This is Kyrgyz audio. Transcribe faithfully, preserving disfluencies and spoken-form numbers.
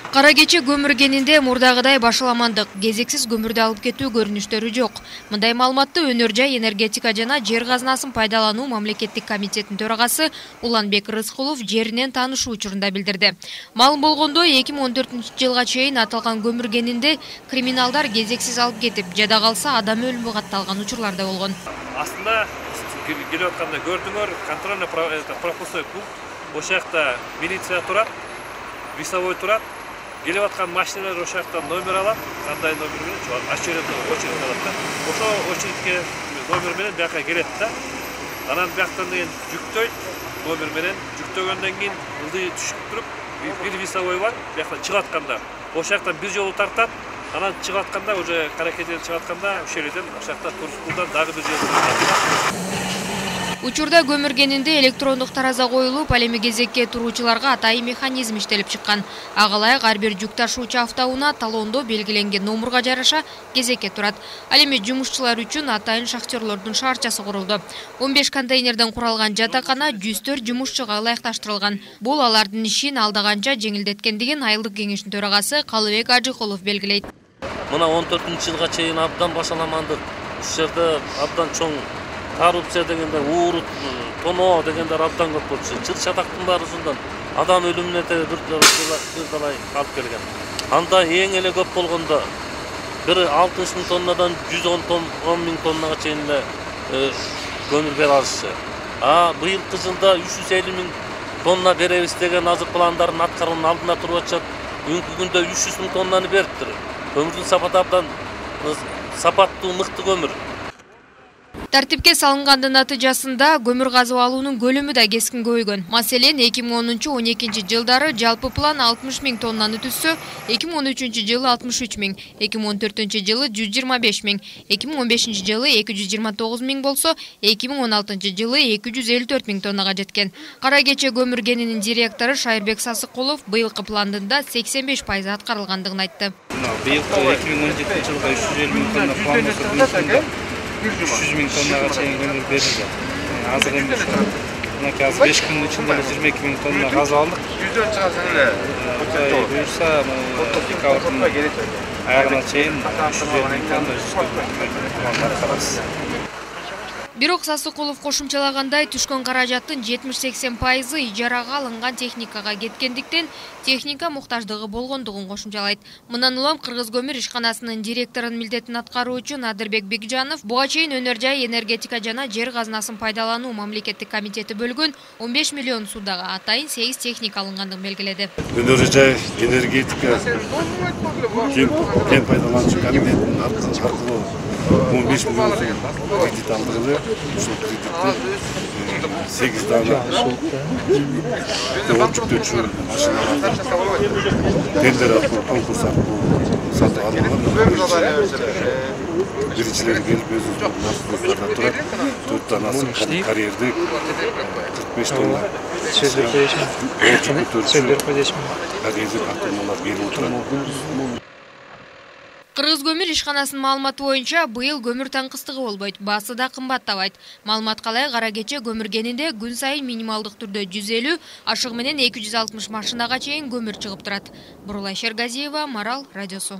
Кара кече көмүр кенинде мурдагыдай башаламандык, кезексиз көмүрдү алып кетүү көрүнүштөрү жок. Мындай маалыматты Өнөр жай энергетика жана жер казынасын пайдалануу мамлекеттик комитетинин төрагасы Уланбек Рыскулов жеринен таанышуу учурунда билдирди. Маалым болгондой, эки миң он төртүнчү жылга чейин аталган көмүр кенинде криминалдар кезексиз алып кетип, жада калса адам өлүмү катталган учурлар да болгон. Астында келип атканда көрдүңөр, контрольно пропускной пункт, ошол жакта милиция турат, весовой турат. Келип аткан машиналар ошол жактан номер алат, кандай номер менен очередь очередь алат да. Ошо очередке номер менен бияка келет да. Анан бияктан деген жүктөйт, номер менен жүктөгөндөн кийин ылдый түшүп туруп, бир весовой бар, бияктан чыгып атканда, ошол жактан бир жолу тартат, анан чыгып атканда уже каракетен чыгып атканда ошол жерден ошол жакта Турскулдан дагы бир жолу тартат. Учурда көмүр кенинде электрондук тараза коюлуп, ал эми кезекке туруучуларга атайын механизм иштелип чыккан. Ага ылайык ар бир жүк ташуучу автоунаа талондо белгиленген номурга жараша кезекке турат. Ал эми жумушчулар үчүн атайын шахтерлордун шаарчасы курулду. он беш контейнерден куралган жатакана жүз төрт жумушчуга ылайыкташтырылган. Бул алардын ишин алда канча жеңилдеткендигин айылдык кеңештин төрагасы Калыбек Ажыкулов белгилейт. Мына он төртүнчү жылга чейин абдан башаламандык. Ушул жерде абдан чоң коррупция дегенде, уурут, тоноо дегендер абдан көп болчу. Жыл чатактын баары ушундан адам өлүмүнө бир далай алып келген. Анда эң эле көп болгондо бир алтымыш миң тоннадан жүз он миң тоннага чейин эле көмүр бере алышчу. А быйылкы жылда үч жүз элүү миң тонна беребиз деген азыр пландарын аткаруунун алдында туруп атышат. Бүгүнкү күндө үч жүз миң тоннаны бериптир. Көмүрдүн сапаты абдан сапаттуу, мыкты көмүр. Тартипке салынгандын натыйжасында көмүр казып алуунун көлөмү да кескин көбөйгөн. Маселен, эки миң онунчу он экинчи жылдары жалпы план алтымыш миң тоннаны түзсө, эки миң он үчүнчү жылы алтымыш үч миң, эки миң он төртүнчү жылы жүз жыйырма беш миң, эки миң он бешинчи жылы эки жүз жыйырма тогуз миң болсо, эки миң он алтынчы жылы эки жүз элүү төрт миң тоннага жеткен. Кара кече көмүр кенинин директору Шайырбек Сасыкулов быйылкы пландында сексен беш пайыз аткарылгандыгын айтты. Быйылкы эки миң он жетинчи жылга үч жүз элүү миң тонна план үч жүз миң тоннага чейин көмүр берилди. Азыр эми мынакей азыр беш күндүн ичинде жыйырма эки миң тонна казып алдык. Жүздөн чыгасың эле. Кудай буйрса, декабрдын аягына чейин үч жүз элүү миң тонна аткарабыз. Бирок Сасыкулов кошумчалагандай, түшкөн каражаттын жетимиш сексен пайызы ижарага алынган техникага кеткендиктен техника муктаждыгы болгондугун кошумчалайт. Мындан улам Кыргыз көмүр ишканасынын директорунун милдетин аткаруучу Надырбек Бекжанов буга чейин Өнөр жай энергетика жана жер казынасын пайдалануу мамлекеттик комитети бөлгөн он беш миллион суудага атайын сегиз техника алынгандыгын белгиледи. Өнөр жай энергетика кен пайдалануучу комитетинин аркылуу он беш миллион кредит алдык эле. Ушул кредитти сегиз дана жүктөөчү машиналарды тендер аркылуу, конкурс аркылуу сатып алынган. Биринчилери келип өзүбүздүн автобустарда турат. төрт данасы карьерди кырк беш тонна. Карьерди автоунаалар берип турат. Кыргыз көмүр ишканасынын маалыматы боюнча быйыл көмүр таңкыстыгы болбойт, баасы да кымбаттабайт. Маалыматка ылайык кара кече көмүр кенинде күн сайын минималдык түрдө жүз элүү, ашыгы менен эки жүз алтымыш машинага чейин көмүр чыгып турат. Бурулай Шергазиева, Марал радиосу.